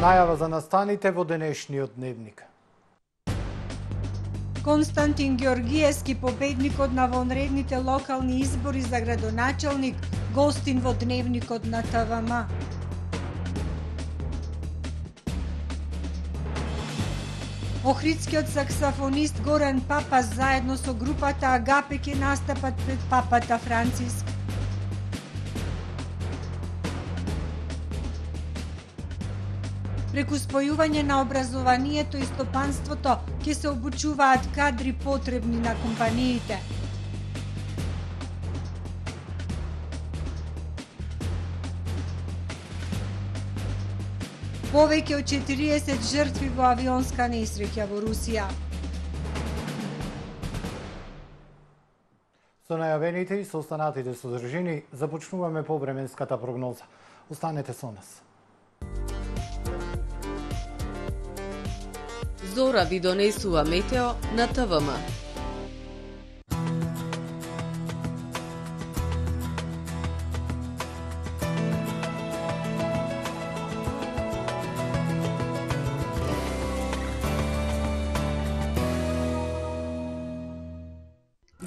Најава за настаните во денешниот дневник. Константин Георгиевски, победникот на вонредните локални избори за градоначалник, гостин во дневникот на ТВМ. Охридскиот саксофонист Горан Папас заедно со групата Агапе ќе настапат пред папата Франциск. Преку спојување на образованието и стопанството ќе се обучуваат кадри потребни на компаниите. Повеќе од 40 жртви во авионска несреќа во Русија. Со најавените и со останатите содржини започнуваме повременската прогноза. Останете со нас. Зора ви донесува метео на ТВМ.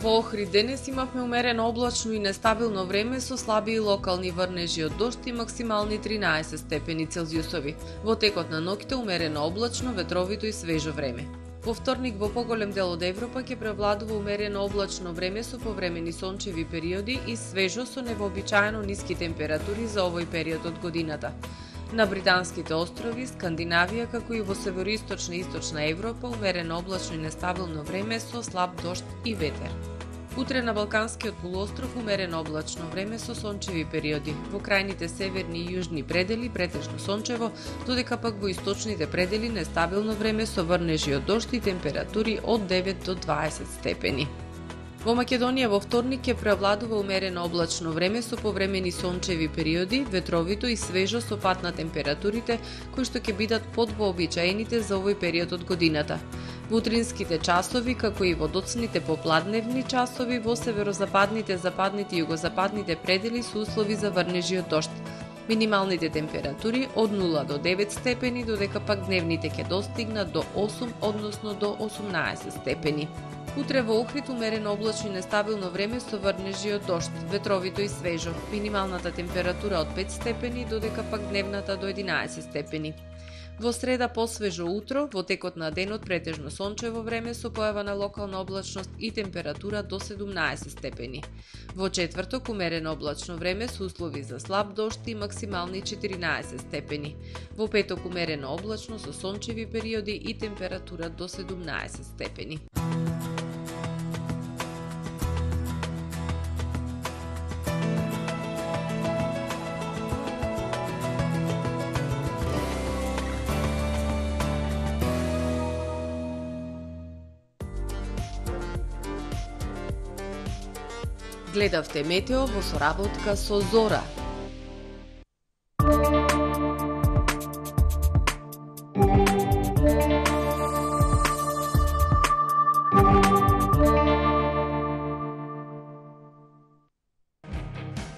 Во Охрид денес имавме умерено облачно и нестабилно време со слаби и локални врнежи од дожд и максимални 13 степени Целзиусови. Во текот на ноќта умерено облачно, ветровито и свежо време. Во вторник во поголем дел од Европа ќе превладува умерено облачно време со повремени сончеви периоди и свежо со невообичаено ниски температури за овој период од годината. На Британските острови, Скандинавија, како и во североисточна и источна Европа, умерено облачно и нестабилно време со слаб дожд и ветер. Утре на Балканскиот полуостров умерено облачно време со сончеви периоди. Во крајните северни и јужни предели претежно сончево, додека пак во источните предели нестабилно време со врнежи од дожд и температури од 9 до 20 степени. Во Македонија во вторник ќе преовладува умерено облачно време со повремени сончеви периоди, ветровито и свежо со пад на температурите, кои што ќе бидат под вообичаените за овој период од годината. Во утринските часови, како и во доцните попладневни часови, во северозападните, западните и југозападните предели се услови за врнежи од дожд. Минималните температури од 0 до 9 степени, додека пак дневните ќе достигнат до 8, односно до 18 степени. Утре во Охрид умерено облачно и нестабилно време со врнежи од дожд, ветровито и свежо. Минималната температура од 5 степени, додека пак дневната до 11 степени. Во среда посвежо утро, во текот на денот претежно сончево време со појава на локална облачност и температура до 17 степени. Во четврток умерено облачно време со услови за слаб дожд и максимални 14 степени. Во петок умерено облачно со сончеви периоди и температура до 17 степени. Гледавте метео во соработка со Зора.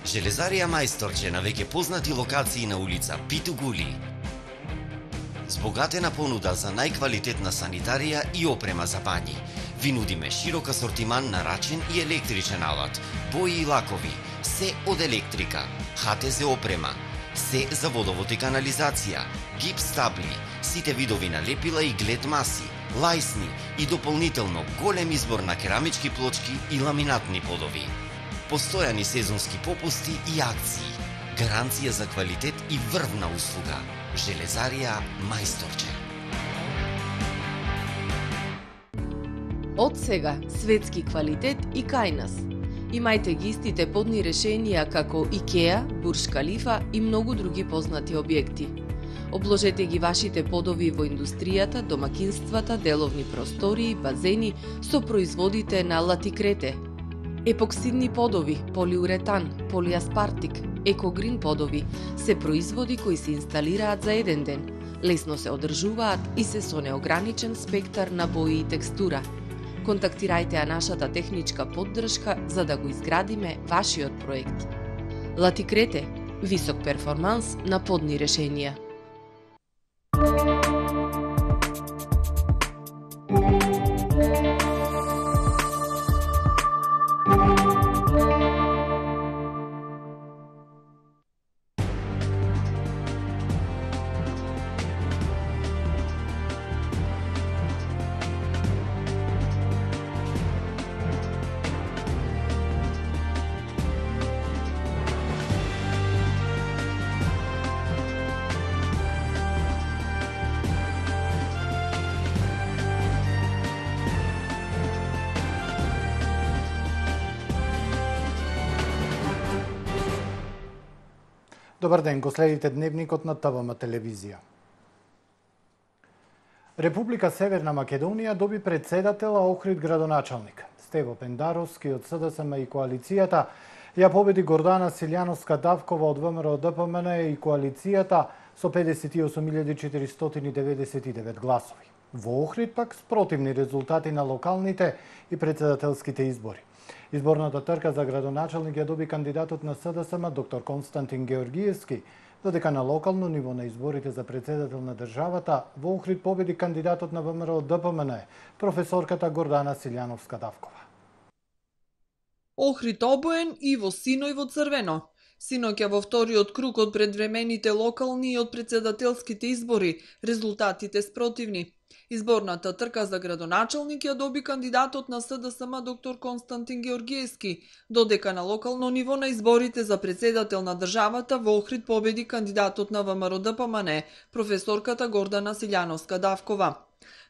Железарија Мајсторче на веќе познати локации на улица Питугули. Збогатена понуда за најквалитетна санитарија и опрема за бањи. Ви нудиме широк асортиман на рачен и електричен алат, бои и лакови, се од електрика, ХТЗ опрема, се за водовод и канализација, гипс табли, сите видови на лепила и глед маси, лајсни и дополнително голем избор на керамички плочки и ламинатни подови. Постојани сезонски попусти и акции, гаранција за квалитет и врвна услуга. Железарија Мајсторче. Од сега, светски квалитет и кај нас. Имајте ги истите подни решенија како Икеа, Бурж Калифа и многу други познати објекти. Обложете ги вашите подови во индустријата, домакинствата, деловни простории, базени со производите на Латикрете. Епоксидни подови, полиуретан, полиаспартик, екогрин подови се производи кои се инсталираат за еден ден, лесно се одржуваат и се со неограничен спектар на бои и текстура. Контактирајте ја нашата техничка поддршка за да го изградиме вашиот проект. Латикрете, висок перформанс на подни решенија. Добар ден, го следите дневникот на ТВМ телевизија. Република Северна Македонија доби председател, а Охрид градоначалник. Стево Пендаровски од СДСМ и коалицијата ја победи Гордана Силјановска-Давкова од ВМРО ДПМН и коалицијата со 58.499 гласови. Во Охрид пак спротивни резултати на локалните и председателските избори. Изборната трка за градоначалник ја доби кандидатот на СДСМ доктор Константин Георгиевски, додека на локално ниво на изборите за председател на државата во Охрид победи кандидатот на ВМРО ДПМН, професорката Гордана Силјановска-Давкова. Охрид обоен и во сино и во црвено. Синоќа во вториот круг од предвремените локални и од председателските избори, резултатите спротивни. Изборната трка за градоначалник ја доби кандидатот на СДСМ доктор Константин Георгиевски, додека на локално ниво на изборите за председател на државата во Охрид победи кандидатот на ВМРО ДПМН, професорката Гордана Силјановска-Давкова.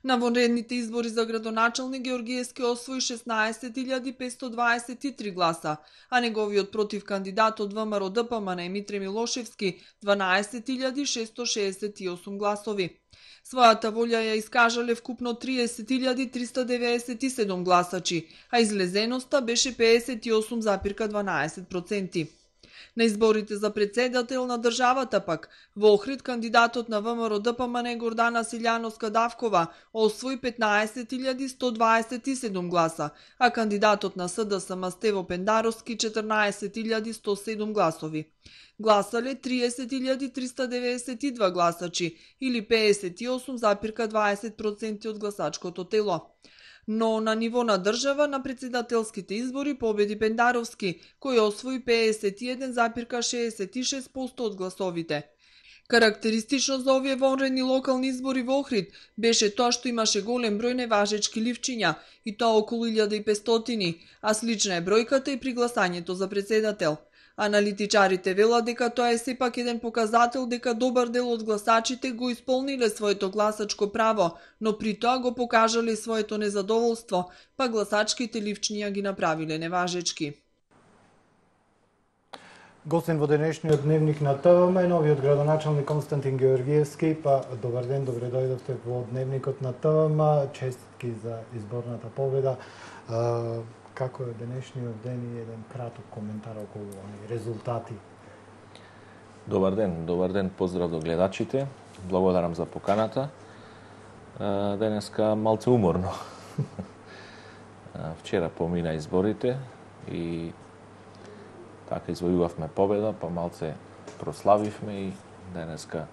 На вонредните избори за градоначалник Георгиевски освои 16.523 гласа, а неговиот против кандидат од ВМРО ДПМН Митре Милошевски 12.668 гласови. Својата волја ја искажале вкупно 30.397 гласачи, а излезеноста беше 58,12%. На изборите за председател на државата пак, во Охрид кандидатот на ВМРО ДПМН Гордана Силјановска-Давкова освои 15.127 гласа, а кандидатот на СДСМ Стево Пендаровски 14.107 гласови. Гласале 30.392 гласачи или 58,20% од гласачкото тело. Но на ниво на држава на председателските избори победи Пендаровски, кој освои 51,66% од гласовите. Карактеристично за овие вонредни локални избори во Охрид беше тоа што имаше голем број неважечки ливчиња, и тоа околу 1500, а слична е бројката и при гласањето за председател. Аналитичарите велат дека тоа е сепак еден показател дека добар дел од гласачите го исполниле своето гласачко право, но при тоа го покажале своето незадоволство, па гласачките ливчиња ги направиле неважечки. Гостин во денешниот дневник на ТВМ е новиот градоначалник Константин Георгиевски. Па добар ден, добре дојдовте во дневникот на ТВМ. Честитки за изборната победа. Како е денешниот ден и еден краток коментар околу резултати? Добар ден, поздрав до гледачите. Благодарам за поканата. Денеска малце уморно. Вчера помина изборите и така извојувавме победа, па малце прославивме и денеска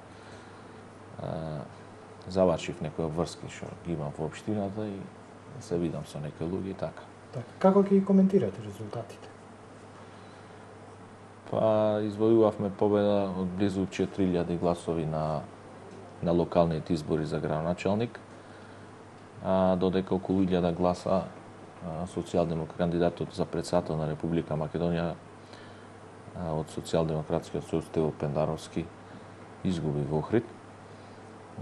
завршив некои врски што ги имам во општината и се видам со некои луѓе и така. Како ќе коментирате резултатите? Па извојувавме победа од близу 4000 гласови на локалните избори за градоначалник, додека околу 1000 гласа кандидатот за председател на Република Македонија од Социјалдемократскиот сојуз Стево Пендаровски изгуби во Охрид.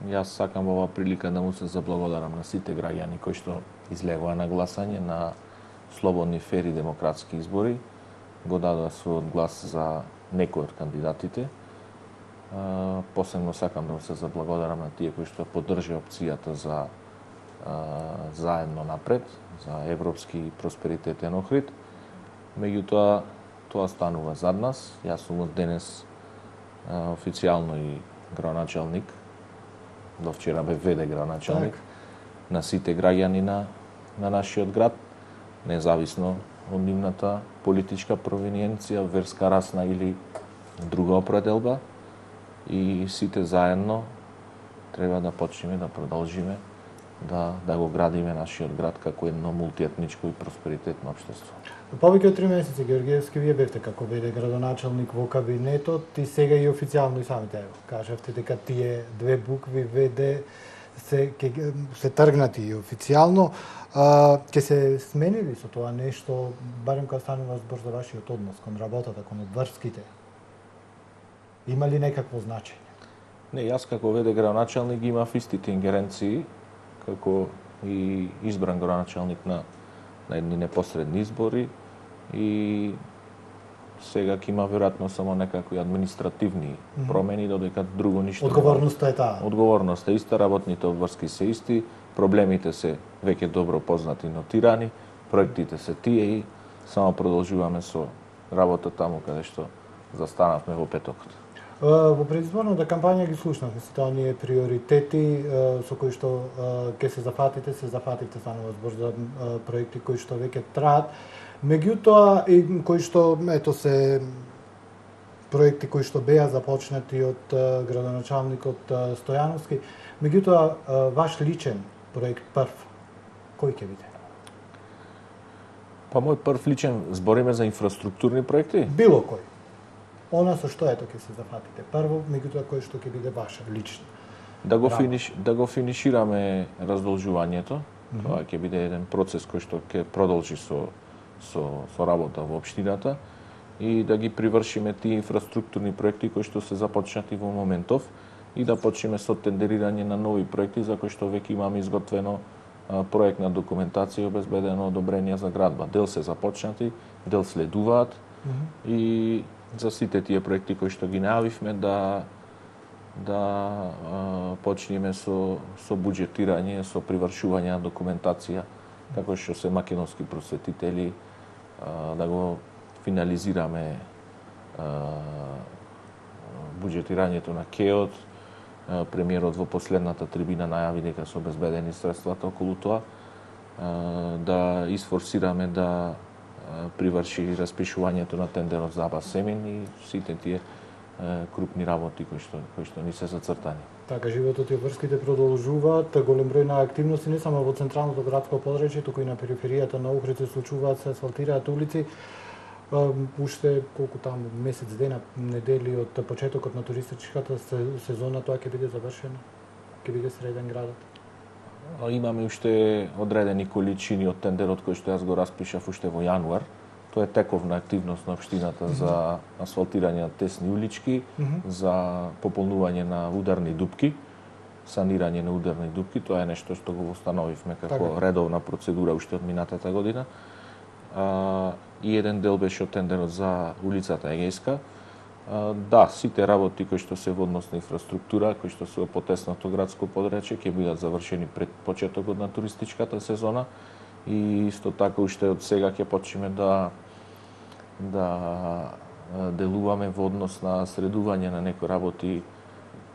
Јас сакам во оваа прилика да му се заблагодарам на сите граѓани кои што излегоа на гласање на слободни, фери, демократски избори, го дадоа својот глас за некој од кандидатите. Посебно сакам да му се заблагодарам на тие кои што поддржи опцијата за заедно напред, за европски просперитетен Охрид. Меѓутоа, тоа станува зад нас. Јас сум од денес официјално и градоначалник, до вчера бе ВД градоначалник на сите граѓани на нашиот град, независно од нивната политичка провиниенција, верска, расна или друга определба, и сите заедно треба да почнеме да продолжиме да го градиме нашиот град како едно мултиетничко и просперитетно општество. Повеќе од 3 месеци, Георгиевски, вие бевте како веде градоначалник во кабинетот и сега и официјално и самите кажавте дека тие две букви веде се тргнати и официјално. Ќе се сменили со тоа нешто, барем кога станува збор за вашиот однос кон работата, кон одврските? Има ли некакво значење? Не, јас како веде градоначалник имав истите ингеренции како и избран градоначалник на едни непосредни избори и сега ќе има веројатно само некакви административни промени, додека друго ништо. Одговорноста е таа. Одговорноста е иста, работните обврски се исти, проблемите се веќе добро познати и нотирани, проектите се тие и само продолжуваме со работа таму каде што застанавме во петокот. Во предизборната кампања ги слушнавме сите оние приоритети со кои што ќе се зафатите станува збор за проекти кои што веќе траат. Меѓутоа и кои што се проекти кои што беа започнати од градоначалникот Стојановски. Меѓутоа ваш личен проект прв кој ќе биде? Па мој прв личен, збориме за инфраструктурни проекти? Било кој. Она со што ето ќе се зафатите прво, меѓутоа кој што ќе биде ваше лично. Да го финишираме раздолжувањето. Тоа ќе биде еден процес кој што ќе продолжи со работа во општината и да ги привршиме тие инфраструктурни проекти кои што се започнати во моментов и да почнеме со тендерирање на нови проекти за кои што веќе имаме изготвено проектна документација и обезбедено одобрение за градба. Дел се започнати, дел следуваат и за сите тие проекти кои што ги најавивме да почнеме со буџетирање, со привршување на документација, како што се македонски просветители, да го финализираме буџетирањето на КЕОД. Премиерот во последната трибина најави дека се обезбедени средствата околу тоа, да isforsirаме да приврши распишувањето на тендерот за Аба Семин и сите тие крупни работи кои што ни се зацртани. Така, животот и врските продолжуваат, голем број на активности не само во централното градско подречје, туку и на периферијата на Охрид се случуваат, се асфалтираат улици. Уште колку таму месец дена, недели од почетокот на туристичката сезона, тоа ќе биде завршено? Ќе биде среден градот? Имаме уште одредени количини од тендерот кој што јас го распишав уште во јануар. Тоа е тековна активност на општината за асфалтирање на тесни улички, за пополнување на ударни дупки, санирање на ударни дупки. Тоа е нешто што го установивме како редовна процедура уште од минатата година. И еден дел беше од тендерот за улицата Егејска. Да, сите работи кои што се во однос на инфраструктура, кои што се во потесното градско подречје, ќе бидат завршени пред почетокот на туристичката сезона и исто така уште од сега ќе почнеме да делуваме во однос на средување на некои работи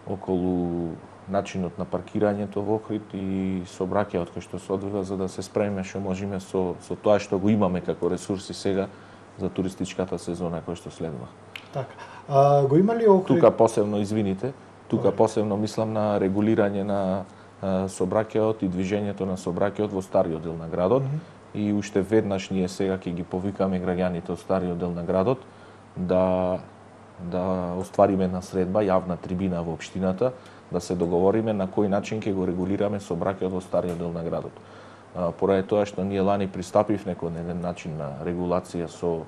околу начинот на паркирањето во Охрид и сообраќајот кој што се одвива за да се спремиме што можеме со тоа што го имаме како ресурси сега за туристичката сезона која што следува. Така. Го има ли Охрид? Тука посебно, извините, посебно мислам на регулирање на сообраќајот и движењето на сообраќајот во стариот дел на градот и уште веднаш ние сега ќе ги повикаме граѓаните од стариот дел на градот да оствариме една средба, јавна трибина во општината, да се договориме на кој начин ќе го регулираме сообраќајот во стариот дел на градот. Поради тоа што ние лани пристапивме кон еден начин на регулација со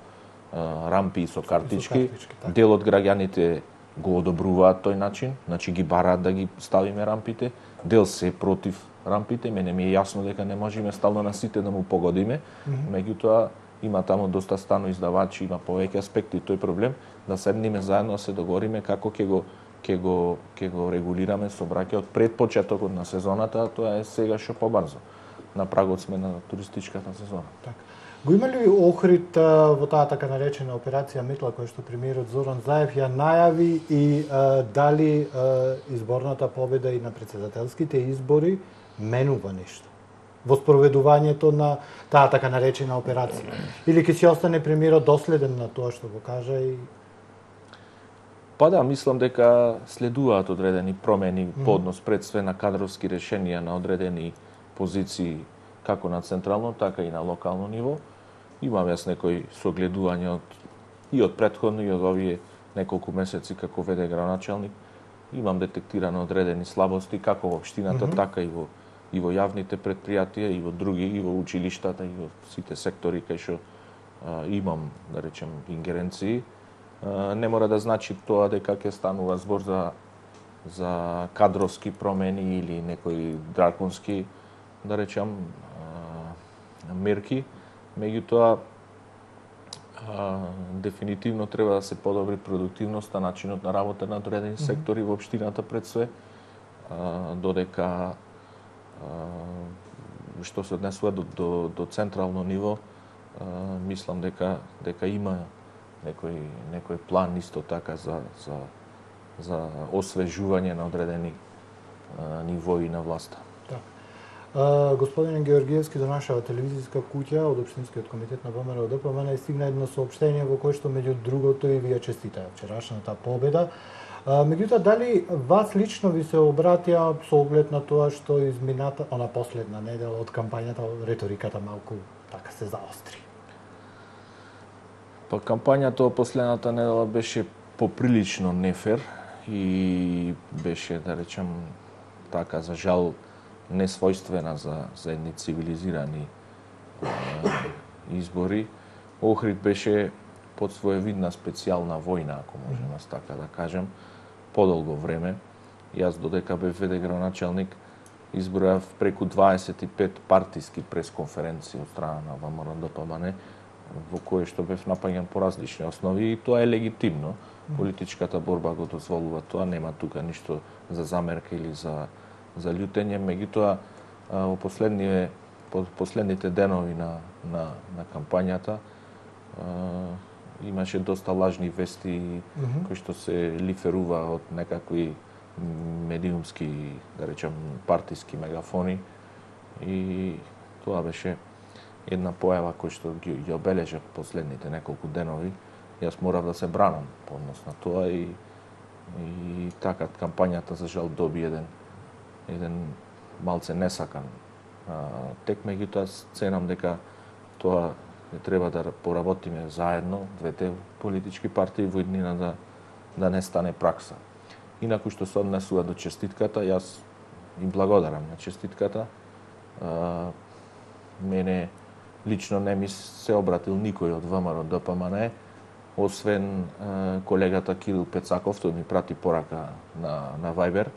рампи и со картички, дел од граѓаните го одобруваат тој начин, значи ги бараат да ги ставиме рампите, дел се против рампите, мене ми е јасно дека не можеме стално на сите да му погодиме, меѓутоа има таму доста станоиздавачи, има повеќе аспекти тој проблем, да седнеме заедно да се договориме како ќе го регулираме сообраќајот пред почетокот на сезоната, тоа е сега што побрзо. На прагот сме на туристичката сезона. Така. Го има ли Охрид во таа така наречена операција Метла која што премиерот Зоран Заев ја најави и дали изборната победа и на претседателските избори менува нешто во спроведувањето на таа така наречена операција? Или ќе си остане премиерот доследен на тоа што го кажа и Па да, мислам дека следуваат одредени промени по однос пред све на кадровски решенија на одредени позиции како на централно, така и на локално ниво. Имам јас некои согледувања и од претходно и од овие неколку месеци како ВД градоначалник. Имам детектирано одредени слабости како во општината, така и во јавните предпријатија, и во други, и во училиштата, и во сите сектори кај што имам, да речем, ингеренции. Не мора да значи тоа дека ќе станува збор за кадровски промени или некои драконски, да речем, мерки. Меѓутоа, дефинитивно треба да се подобри продуктивноста, начинот на работа на одредени сектори во општината пред све, додека што се однесува до централно ниво, мислам дека има некој план исто така за освежување на одредени нивои на власта. Господин Георгиевски, до нашава телевизиска куќа од Општинскиот комитет на ВМРО ДПМН стигна едно соопштение во кое што меѓу другото и вие честитаа вчерашната победа. Меѓутоа, дали вас лично ви се обратија со оглед на тоа што измината она последна недела од кампањата реториката малку така се заостри? Па кампањата последната недела беше поприлично нефер и беше, да речем, така за жал несвојствена за едни цивилизирани избори. Охрид беше под своевидна специјална војна, ако можеме така да кажем, подолго време. Јас додека бев ВД градоначалник избројав преку 25 партиски пресконференции од страна на ВМРО ДПМН, во кои што бев напаѓан по различни основи и тоа е легитимно. Политичката борба го дозволува тоа, нема тука ништо за замерка или за љутење, меѓутоа во последните денови на кампањата имаше доста лажни вести кои што се лиферува од некакви медиумски, да речем, партиски мегафони и тоа беше една појава која што ги обележа последните неколку денови. Јас морав да се бранам по однос на тоа и така кампањата за жал доби еден малце несакан тек, меѓутоа ценам дека тоа треба да поработиме заедно, двете политички партии во иднина да не стане пракса. Инаку што се однесува до честитката, јас им благодарам на честитката. Мене лично не ми се обратил никој од ВМРО ДПМН, освен колегата Кирил Пецаков, тој ми прати порака на Viber.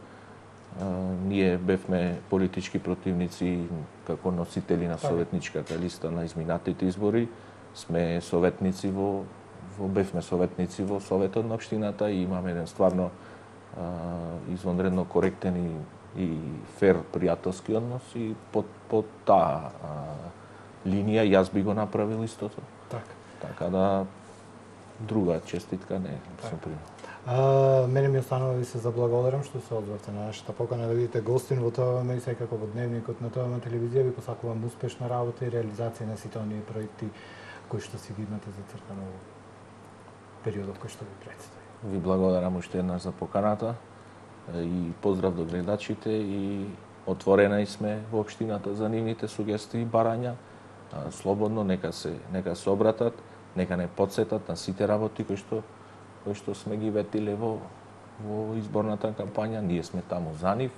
Ние бевме политички противници како носители на советничката листа на изминатите избори. Сме советници бевме советници во Советот на општината и имаме еден стварно извонредно коректен и фер пријателски однос и под таа линија јас би го направил истото. Така да друга честитка не сум примал. Мене ми останува да ви се заблагодарам што се одзвавте на нашата покана да видите гостин во ТВМ и секако во дневникот на ТВМ телевизија. Ви посакувам успешна работа и реализација на сите оние проекти кои што си ги имате зацртано во периодот кој што ви предстои. Ви благодарам уште еднаш за поканата и поздрав до гледачите и отворена сме во општината за нивните сугестии и барања. Слободно нека се обратат, нека не потсетат на сите работи кои што сме ги ветиле во изборната кампања. Ние сме таму за нив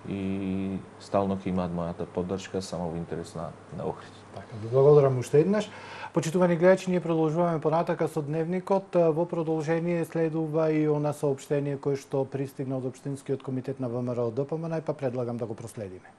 и стално ќе имаат мојата поддршка само во интерес на Охрид. Така, ви благодарам уште еднаш. Почитувани гледачи, ние продолжуваме понатака со дневникот. Во продолжение следува и она соопштение кое што пристигна од Општинскиот комитет на ВМРО ДПМН, па предлагам да го проследиме.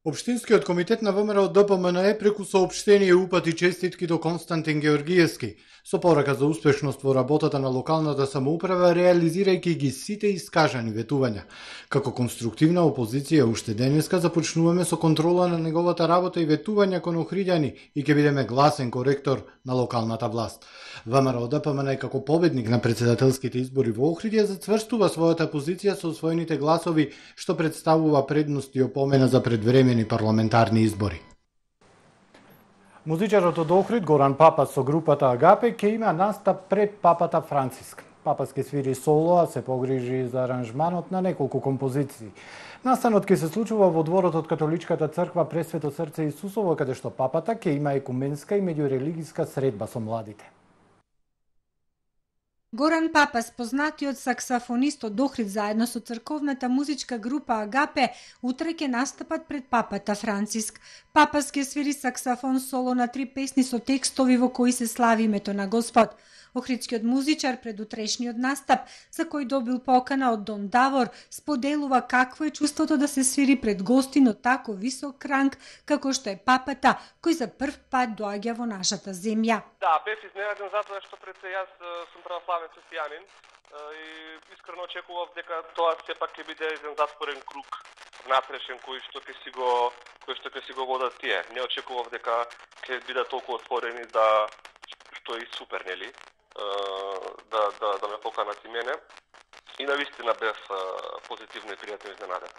Општинскиот комитет на ВМРО ДПМН преку соопштение упати честитки до Константин Георгиевски со порака за успешност во работата на локалната самоуправа, реализирајќи ги сите искажани ветувања. Како конструктивна опозиција уште денеска започнуваме со контрола на неговата работа и ветувања кон охриѓани и ќе бидеме гласен коректор на локалната власт. ВМРО ДПМН како победник на претседателските избори во Охрид ја зацврстува својата позиција со освоените гласови, што представува предност и опомена за предвремени парламентарни избори. Музичарот од Охрид Горан Папа со групата Агапе ќе има настап пред папата Франциск. Папас ке свири соло, а се погрижи за аранжманот на неколку композиции. Настанот ќе се случува во дворот од Католичката црква Пресвето срце Исусово, каде што папата ќе има екуменска и меѓурелигиска средба со младите. Горан Папас, познатиот саксафонист од Охрид, заедно со црковната музичка група Агапе, утре ќе настапат пред папата Франциск. Папас ќе свири саксафон соло на 3 песни со текстови во кои се слави името на Господ. Охридскиот музичар пред утрешниот настап, за кој добил покана од Дон Давор, споделува какво е чувството да се свири пред гостин од тако висок ранг, како што е папата, кој за прв пат доаѓа во нашата земја. Да, бев изненаден затоа што пред се јас сум православен христијанин и искрено очекував дека тоа сепак ќе биде еден затворен круг внатрешен кој што ќе си го водат тие. Не очекував дека ќе бидат толку отворени да што е супер, нели? Да ме поканат и мене. И навистина бев позитивно и пријатно изненаден.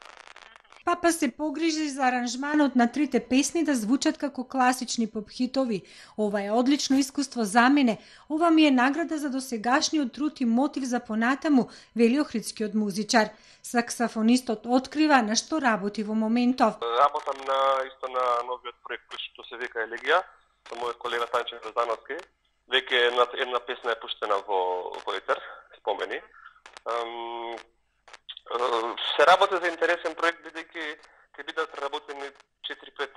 Папа се погрижи за аранжманот на 3 песни да звучат како класични поп-хитови. Ова е одлично искуство за мене. Ова ми е награда за досегашниот труд и мотив за понатаму, вели охридскиот музичар. Саксафонистот открива на што работи во моментов. Работам на новиот проект кој што се вика Елегија, со мојот колега Танче Грозановски. Веќе една песна е пуштена во етер, спомени. Се работи за интересен проект, бидејќи ќе бидат преработени 4-5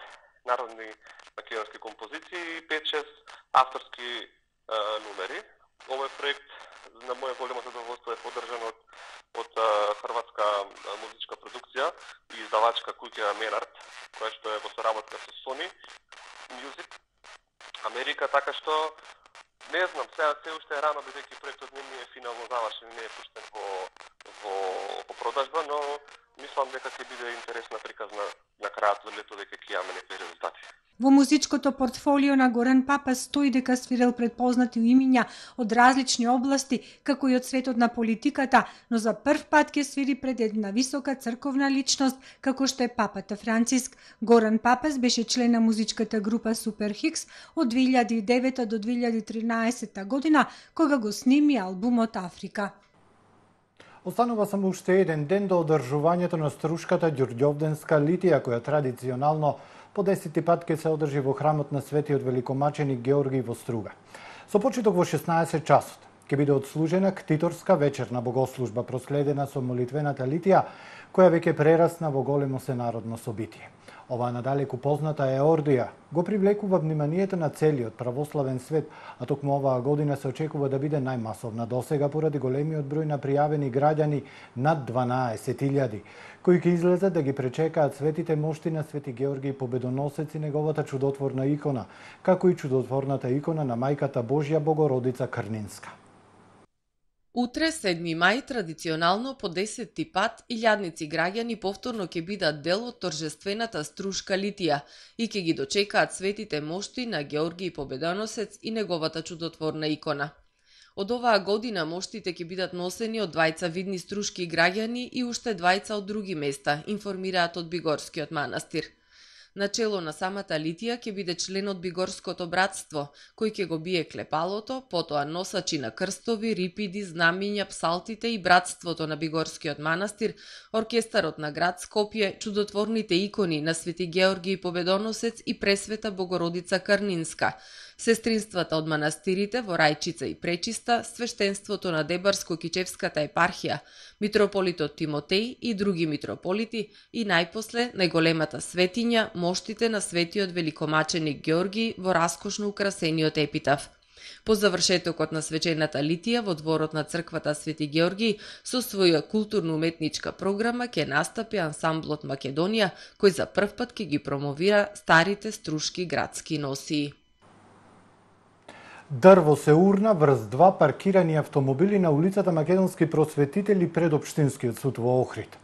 народни македонски композиции и 5-6 авторски номери. Овој проект на моје големо задоволство е поддржан од хрватска музичка продукција и издавачка куќа Менард, која што е во соработка со Sony Music Америка, така што не знам, сега се уште е рано, бидејќи проектот не е финално завршен, не е пуштен во продажба, но мислам дека ќе биде интересна приказна на крајот од лето, дека ќе имаме некои резултати. Во музичкото портфолио на Горан Папас стои дека свирел пред познати имиња од различни области, како и од светот на политиката, но за прв пат ќе свири пред една висока црковна личност, како што е папата Франциск. Горан Папас беше член на музичката група Супер Хикс од 2009 до 2013 година, кога го сними албумот Африка. Останува само уште еден ден до одржувањето на струшката ѓурѓовденска литија, која традиционално по 10 пат ќе се одржи во храмот на светиот великомаченик Георги во Струга. Со почеток во 16 часот ќе биде отслужена ктиторска вечерна богослужба, проследена со молитвената литија, која веќе прерасна во големо сенародно собитие. Оваа надалеку позната еордија го привлекува вниманието на целиот православен свет, а токму оваа година се очекува да биде најмасовна досега поради големиот број на пријавени граѓани над 12.000, кои ќе излезат да ги пречекаат светите мошти на Свети Георги Победоносец и неговата чудотворна икона, како и чудотворната икона на Мајката Божја Богородица Крнинска. Утре, 7 мај, традиционално по 10 пат, илјадници граѓани повторно ќе бидат дел од торжествената струшка литија и ќе ги дочекаат светите мошти на Георги Победоносец и неговата чудотворна икона. Од оваа година моштите ќе бидат носени од двајца видни струшки граѓани и уште двајца од други места, информираат од Бигорскиот манастир. Начело на самата литија ќе биде член од Бигорското братство, кој ќе го бие клепалото, потоа носачи на крстови, рипиди, знамиња, псалтите и братството на Бигорскиот манастир, оркестарот на град Скопје, чудотворните икони на Свети Георги Победоносец и Пресвета Богородица Крнинска, сестринствата од манастирите во Рајчица и Пречиста, свештенството на Дебарско-Кичевската епархија, митрополитот Тимотеј и други митрополити и најпосле најголемата светиња, моштите на светиот великомаченик Георги во раскошно украсениот епитаф. По завршетокот на свечената литија во дворот на црквата Свети Георги со своја културно-уметничка програма ќе настапи ансамблот Македонија, кој за прв пат ќе ги промовира старите струшки градски носии. Дрво се урна врз 2 паркирани автомобили на улицата Македонски просветители пред Општинскиот суд во Охрид.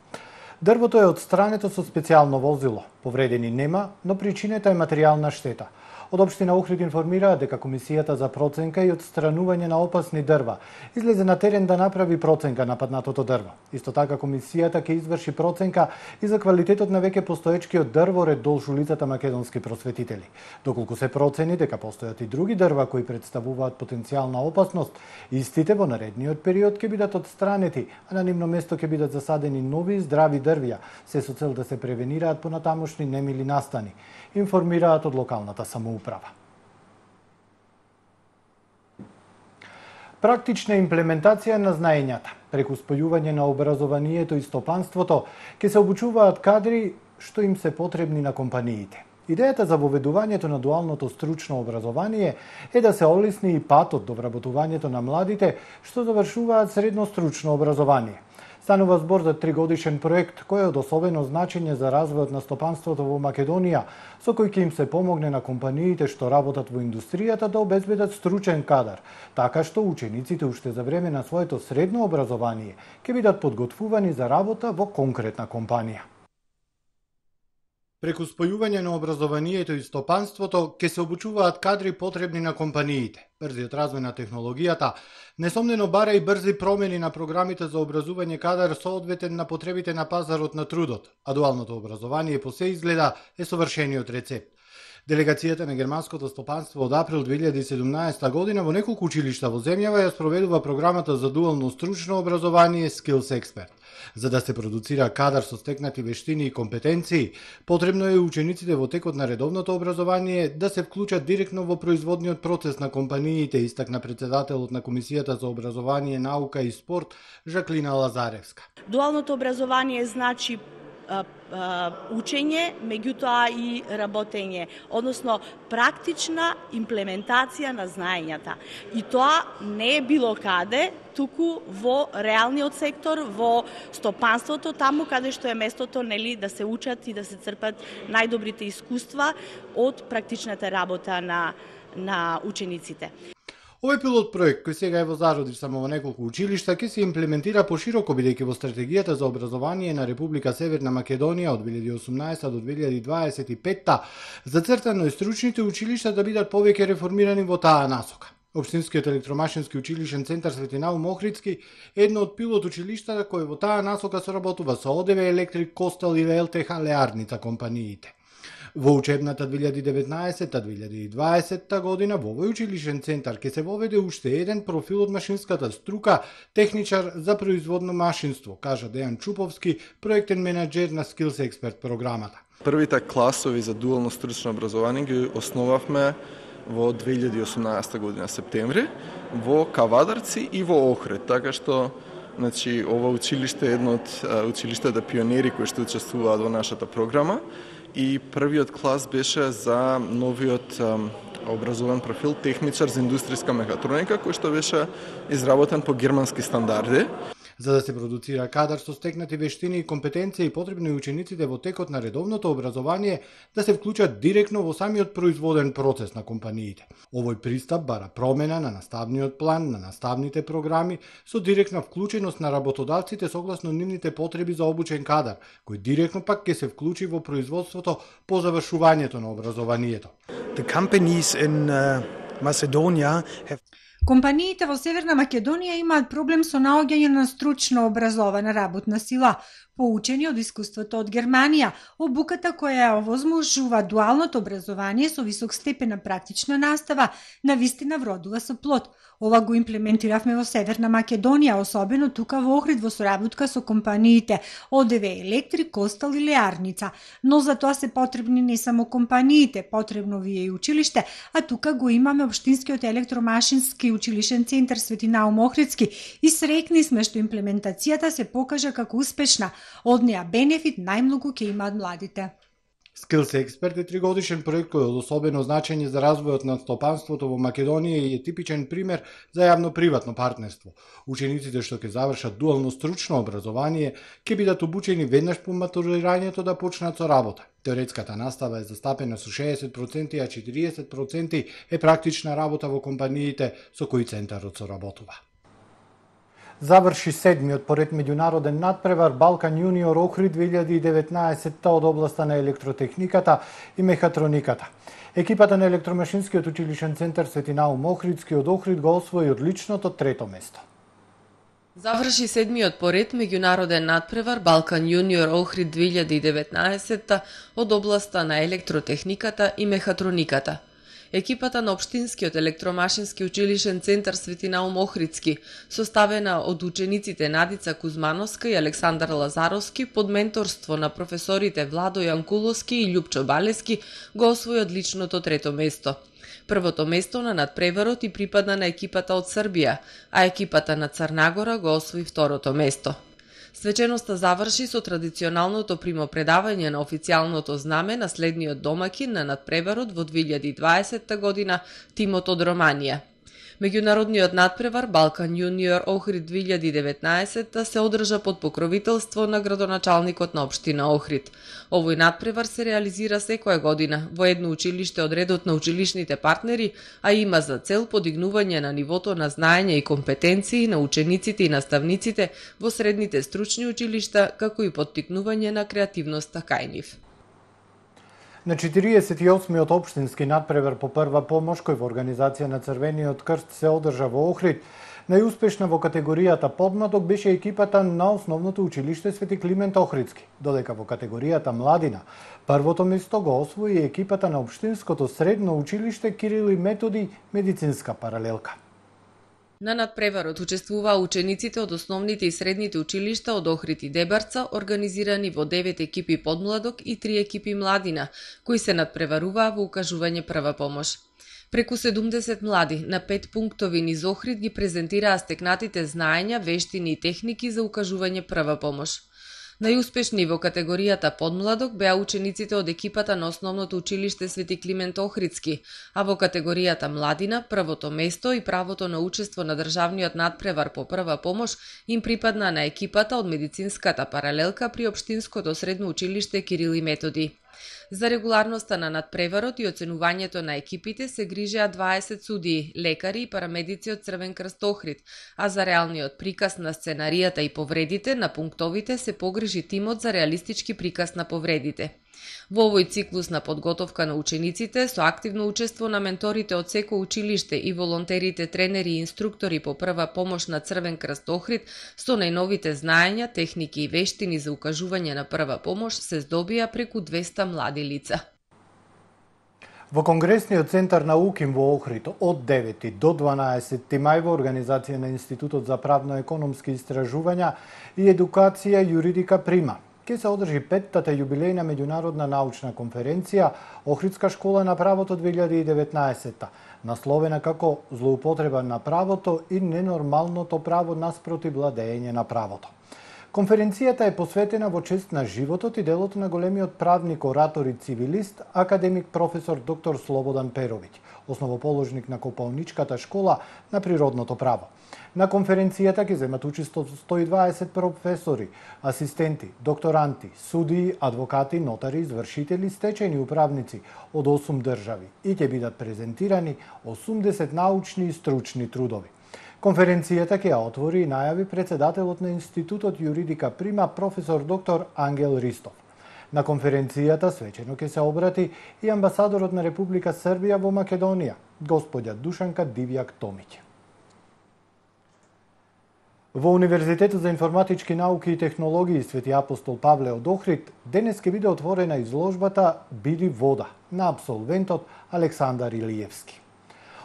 Дрвото е отстрането со специјално возило. Повредени нема, но причината е материјална штета. Од општина Охрид информираат дека Комисијата за проценка и отстранување на опасни дрва излезе на терен да направи проценка на паднатото дрво. Исто така Комисијата ќе изврши проценка и за квалитетот на веќе постоечкиот дрворед долж улицата Македонски просветители. Доколку се процени дека постојат и други дрва кои представуваат потенцијална опасност, истите во наредниот период ќе бидат отстранети, а на нивно место ќе бидат засадени нови здрави дрвја, се со цел да се превенираат понатамошни немили настани, информираат од локалната самоуправа. Практична имплементација на знаењата преку спојување на образованието и стопанството ќе се обучуваат кадри што им се потребни на компаниите. Идејата за воведувањето на дуалното стручно образование е да се олесни и патот до вработувањето на младите што завршуваат средно стручно образование. Станува збор за 3-годишен проект кој е од особено значење за развојот на стопанството во Македонија, со кој ќе им се помогне на компаниите што работат во индустријата да обезбедат стручен кадар, така што учениците уште за време на своето средно образование ќе бидат подготвувани за работа во конкретна компанија. Преку спојување на образованието и стопанството ќе се обучуваат кадри потребни на компаниите. Брзиот развој на технологијата несомнено бара и брзи промени на програмите за образување кадар соодветен на потребите на пазарот на трудот, а дуалното образование по се изгледа е совршениот рецепт. Делегацијата на германското стопанство од април 2017 година во неколку училишта во земјава ја спроведува програмата за дуално стручно образование Skills Expert. За да се продуцира кадар со стекнати вештини и компетенции, потребно е учениците во текот на редовното образование да се вклучат директно во производниот процес на компаниите, истакна председателот на Комисијата за образование, наука и спорт Жаклина Лазаревска. Дуалното образование значи учење, меѓутоа и работење, односно практична имплементација на знаењата. И тоа не е било каде, туку во реалниот сектор, во стопанството, таму каде што е местото, нели, да се учат и да се црпат најдобрите искуства од практичната работа на учениците. Овој пилот проект, кој сега е во зародиш само во неколку училишта, ќе се имплементира пошироко, бидејќи во стратегијата за образование на Република Северна Македонија од 2018 до 2025 зацртано е стручните училишта да бидат повеќе реформирани во таа насока. Општинскиот електромашински училишен центар Свети Наум Охридски е едно од пилот училиштата кој во таа насока соработува со ОДВ Електрик, Костел и ЛТХ Леарница компаниите. Во учебната 2019-2020 година во овој училишен центар ќе се воведе уште еден профил од машинската струка, техничар за производно машинство, кажа Дејан Чуповски, проектен менаџер на Skills Expert програмата. Првите класови за дуално стручно образование ги основавме во 2018 година септември во Кавадарци и во Охрид, така што значи ова училиште е едно од училиштата пионери кои што учествуваат во нашата програма. И првиот клас беше за новиот образован профил техничар за индустријска мехатроника, кој што беше изработен по германски стандарди. За да се продуцира кадар со стекнати вештини и компетенции, потребно е учениците во текот на редовното образование да се вклучат директно во самиот производен процес на компаниите. Овој пристап бара промена на наставниот план, на наставните програми, со директна вклученост на работодавците согласно нивните потреби за обучен кадар, кој директно пак ќе се вклучи во производството по завршувањето на образованието. The companies in Macedonia have Компаниите во Северна Македонија имаат проблем со наоѓање на стручно образована работна сила, поучени од искуството од Германија, обуката која овозможува дуалното образование со висок степен на практична настава, навистина вродува со плод. Ова го имплементиравме во Северна Македонија, особено тука во Охрид во соработка со компаниите ОДВ Електрик, Костел и Леарница. Но за тоа се потребни не само компаниите, потребно ви е и училиште, а тука го имаме Општинскиот електромашински училишен центар Свети Наум Охридски и среќни сме што имплементацијата се покажа како успешна. Од неа бенефит најмногу ќе имаат младите. Skills Expert е 3-годишен проект кој е од особено значење за развојот на стопанството во Македонија и е типичен пример за јавно-приватно партнерство. Учениците што ќе завршат дуално стручно образование ќе бидат обучени веднаш по матурирањето да почнат со работа. Теоретската настава е застапена со 60%, а 40% е практична работа во компаниите со кои центарот соработува. Заврши седмиот поред меѓународен надпревар Балкан Јуниор Охрид 2019 од областа на електротехниката и мехатрониката. Екипата на електромашинскиот училишен центар Свети Наум Охридски од Охрид го освои одличното трето место. Заврши седмиот поред меѓународен надпревар Балкан Јуниор Охрид 2019 од областа на електротехниката и мехатрониката. Екипата на Општинскиот електромашински училишен центар Свети Наум Охридски, составена од учениците Надица Кузмановска и Александар Лазаровски под менторство на професорите Владо Јанкуловски и Љупчо Балески, го освои одличното трето место. Првото место на надпреварот и припадна на екипата од Србија, а екипата на Црнагора го освои второто место. Свеченоста заврши со традиционалното примопредавање на официјалното знаме на следниот домакин на надпреварот во 2020 година, тимот од Романија. Меѓународниот надпревар Балкан Јуниор Охрид 2019 се одржа под покровителство на градоначалникот на општина Охрид. Овој надпревар се реализира секоја година во едно училиште од редот на училишните партнери, а има за цел подигнување на нивото на знаење и компетенции на учениците и наставниците во средните стручни училишта, како и поттикнување на креативноста кај нив. На 48-миот општински надпревар по прва помош, кој во организација на Црвениот крст се одржа во Охрид, најуспешна во категоријата подмладок беше екипата на основното училиште Свети Климент Охридски, додека во категоријата младина првото место го освои екипата на општинското средно училиште Кирил и Методи медицинска паралелка. На надпреварот учествуваа учениците од основните и средните училишта од Охрид и Дебарца, организирани во 9 екипи подмладок и 3 екипи младина, кои се надпреваруваа во укажување прва помош. Преку 70 млади на 5 пунктови низ Охрид ги презентираа стекнатите знаења, вештини и техники за укажување прва помош. Најуспешни во категоријата подмладок беа учениците од екипата на основното училиште Свети Климент Охридски, а во категоријата младина првото место и правото на учество на државниот надпревар по прва помош им припадна на екипата од медицинската паралелка при општинското средно училиште Кирил и Методи. За регуларноста на надпреварот и оценувањето на екипите се грижеа 20 судии, лекари и парамедици од Црвен крст Охрид, а за реалниот приказ на сценаријата и повредите на пунктовите се погрижи тимот за реалистички приказ на повредите. Во овој циклус на подготовка на учениците, со активно учество на менторите од секој училиште и волонтерите, тренери и инструктори по прва помош на Црвен крст Охрид, со најновите знаења, техники и вештини за укажување на прва помош се здобија преку 200 млади лица. Во Конгресниот центар на УКИМ во Охрид од 9 до 12 мај во организација на Институтот за правно-економски истражувања и едукација Јуридика Прима ке се одржи 5-тата јубилејна меѓународна научна конференција Охридска школа на правото 2019, насловена како злоупотреба на правото и ненормалното право наспроти владење на правото. Конференцијата е посветена во чест на животот и делото на големиот правник, оратор и цивилист, академик професор доктор Слободан Перовиќ, основоположник на Копалничката школа на природното право. На конференцијата ќе земат учество 120 професори, асистенти, докторанти, судии, адвокати, нотари, извршители, стечајни управници од 8 држави и ќе бидат презентирани 80 научни и стручни трудови. Конференцијата ќе ја отвори и најави председателот на Институтот Јуридика Прима професор доктор Ангел Ристов. На конференцијата свечено ќе се обрати и амбасадорот на Република Србија во Македонија, господја Душанка Дивјак Томиќ. Во Универзитетот за информатички науки и технологии Свети Апостол Павле од Охрид денес ќе биде отворена изложбата Биди вода на апсолвентот Александар Илиевски.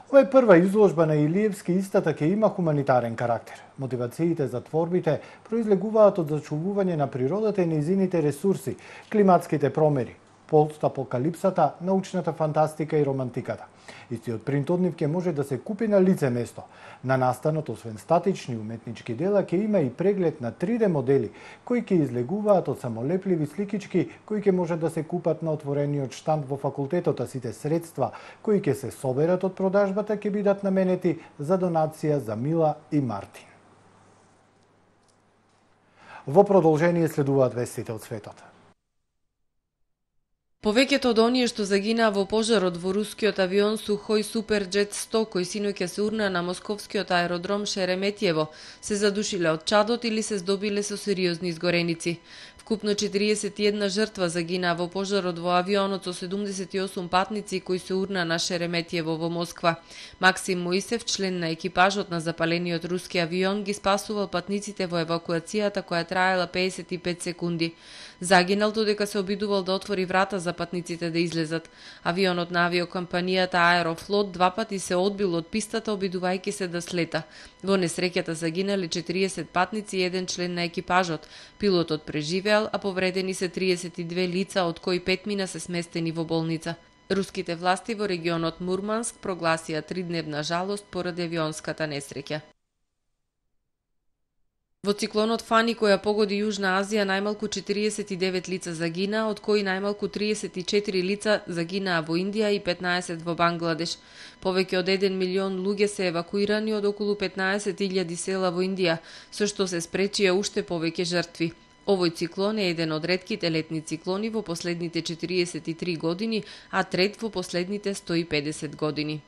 Ова е прва изложба на Илиевски, истата ќе има хуманитарен карактер. Мотивациите за творбите произлегуваат од зачувување на природата и нејзините ресурси, климатските промени, постапокалипсата, научната фантастика и романтиката. Истиот принт од нив ќе може да се купи на лице место. На настанот, освен статични уметнички дела, ќе има и преглед на 3D модели, кои ќе излегуваат од самолепливи сликички, кои ќе може да се купат на отворениот штанд во факултетот, а сите средства кои ќе се соберат од продажбата ќе бидат наменети за донација за Мила и Мартин. Во продолжение следуваат вестите од светот. Повеќето од оние што загинаа во пожарот во рускиот авион Сухој Суперџет 100, кој синоќа се урна на московскиот аеродром Шереметиево, се задушиле од чадот или се здобиле со сериозни изгореници. Вкупно 41 жртва загинаа во пожарот во авионот со 78 патници кои се урна на Шереметиево во Москва. Максим Моисев, член на екипажот на запалениот руски авион, ги спасувал патниците во евакуацијата која траела 55 секунди. Загинал додека се обидувал да отвори врата за патниците да излезат. Авионот на авиокомпанијата Аерофлот два пати се одбил од пистата обидувајќи се да слета. Во несреќата загинале 40 патници и еден член на екипажот. Пилотот преживеал, а повредени се 32 лица, од кои 5 мина се сместени во болница. Руските власти во регионот Мурманск прогласија 3-дневна жалост поради авионската несреќа. Во циклонот Фани, која погоди Јужна Азија, најмалку 49 лица загинаа, од кои најмалку 34 лица загинаа во Индија и 15 во Бангладеш. Повеќе од 1 милион луѓе се евакуирани од околу 15.000 села во Индија, со што се спречија уште повеќе жртви. Овој циклон е еден од ретките летни циклони во последните 43 години, а трет во последните 150 години.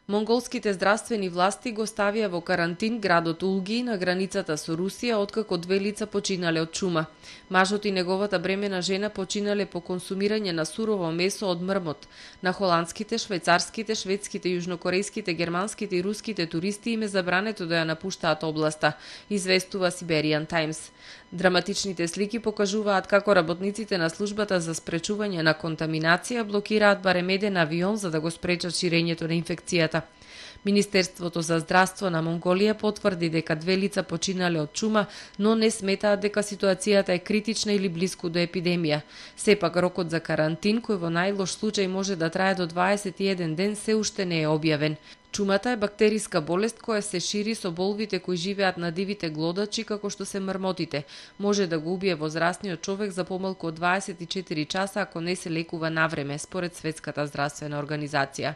Монголските здравствени власти го ставија во карантин градот Улги на границата со Русија откако 2 лица починале од чума. Мажот и неговата бремена жена починале по консумирање на сурово месо од мрмот. На холандските, швајцарските, шведските, јужнокорејските, германските и руските туристи им е забрането да ја напуштаат областа, известува Siberian Times. Драматичните слики покажуваат како работниците на службата за спречување на контаминација блокираат барем еден авион за да го спречат ширењето на инфекцијата. Министерството за здравство на Монголија потврди дека 2 лица починале од чума, но не сметаат дека ситуацијата е критична или близко до епидемија. Сепак рокот за карантин, кој во најлош случај може да трае до 21 ден, се уште не е објавен. Чумата е бактериска болест која се шири со болвите кои живеат на дивите глодачи, како што се мрмотите. Може да го убие возрастниот човек за помалку од 24 часа ако не се лекува навреме, според Светската здравствена организација.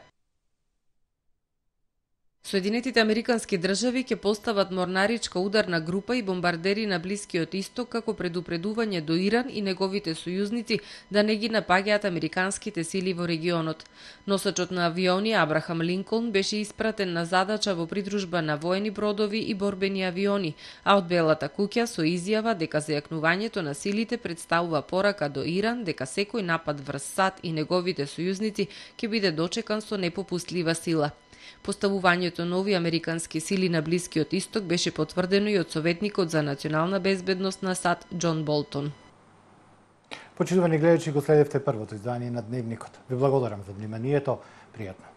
Соединетите Американски држави ќе постават морнаричка ударна група и бомбардери на Блискиот Исток како предупредување до Иран и неговите сојузници да не ги напаѓаат американските сили во регионот. Носачот на авиони Абрахам Линколн беше испратен на задача во придружба на воени бродови и борбени авиони, а од Белата куќа со изјава дека зајакнувањето на силите представува порака до Иран дека секој напад врз САД и неговите сојузници ќе биде дочекан со непопустлива сила. Поставувањето нови американски сили на Блискиот Исток беше потврдено и од советникот за национална безбедност на САД Џон Болтон. Почитувани гледачи, го следевте првото издание на Дневникот. Ви благодарам за вниманието. Пријатно.